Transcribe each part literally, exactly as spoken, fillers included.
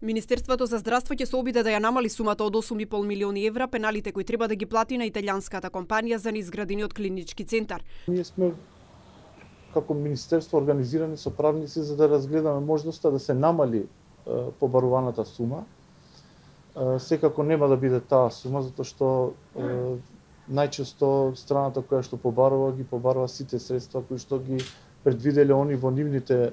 Министерството за здравство ќе се обиде да ја намали сумата од осум и пол милиони евра, пеналите кои треба да ги плати на италијанската компанија за неизградениот клинички центар. Ние сме како министерство организирани со правници за да разгледаме можноста да се намали е, побаруваната сума. Е, секако нема да биде таа сума, затоа што е, најчесто страната која што побарува ги побарува сите средства кои што ги предвиделе они во нивните е,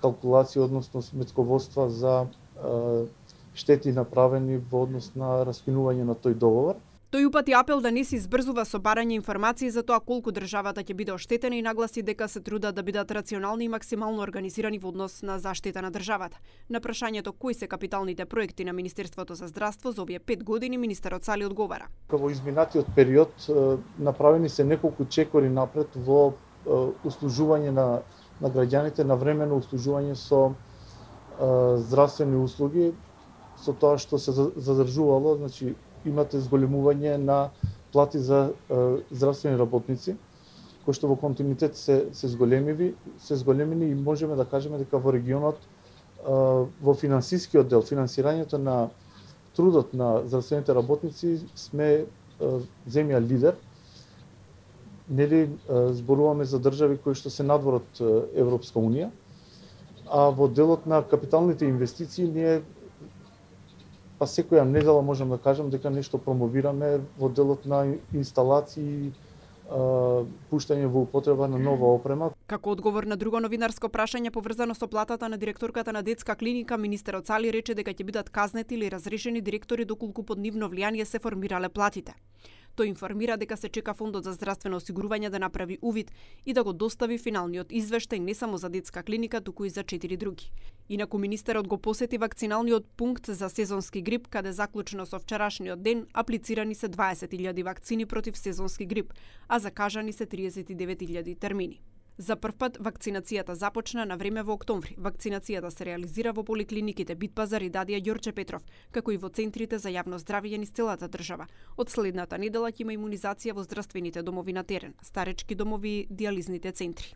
калкулации, односно сметководства за е, штети направени во однос на раскинување на тој договор. Тој упати апел да не се избрзува со барање информации за тоа колку државата ќе биде оштетена и нагласи дека се трудат да бидат рационални и максимално организирани во однос на заштита на државата. На прашањето кои се капиталните проекти на Министерството за здравство за овие пет години, министерот Сали одговара. Во изминатиот период направени се неколку чекори напред во услужување на на граѓаните, на времено услужување со здравствени услуги, со тоа што се задржувало, значи имате зголемување на плати за е, здравствени работници, кои што во континуитет се се зголемиви, се зголемени и можеме да кажеме дека во регионот е, во финансискиот дел, финансирањето на трудот на здравствените работници сме е, земја лидер. Нели зборуваме за држави кои што се надвор од Европска унија, а во делот на капиталните инвестиции ние па секоја недела можам да кажам дека нешто промовираме во делот на инсталации, пуштање во употреба на нова опрема. Како одговор на друго новинарско прашање поврзано со платата на директорката на детска клиника, министерот Сали рече дека ќе бидат казнети или разрешени директори доколку под нивно влијание се формирале платите. Тој информира дека се чека Фондот за здравствено осигурување да направи увид и да го достави финалниот извештај не само за детска клиника, туку и за четири други. Инаку министерот го посети вакциналниот пункт за сезонски грип, каде заклучно со вчерашниот ден аплицирани се дваесет илјади вакцини против сезонски грип, а закажани се триесет и девет илјади термини. За прв пат вакцинацијата започна на време во октомври. Вакцинацијата се реализира во поликлиниките Битпазар и Дадија Ѓорче Петров, како и во центрите за јавно здравје низ целата држава. Од следната недела ќе има имунизација во здравствените домови на терен, старечки домови и дијализните центри.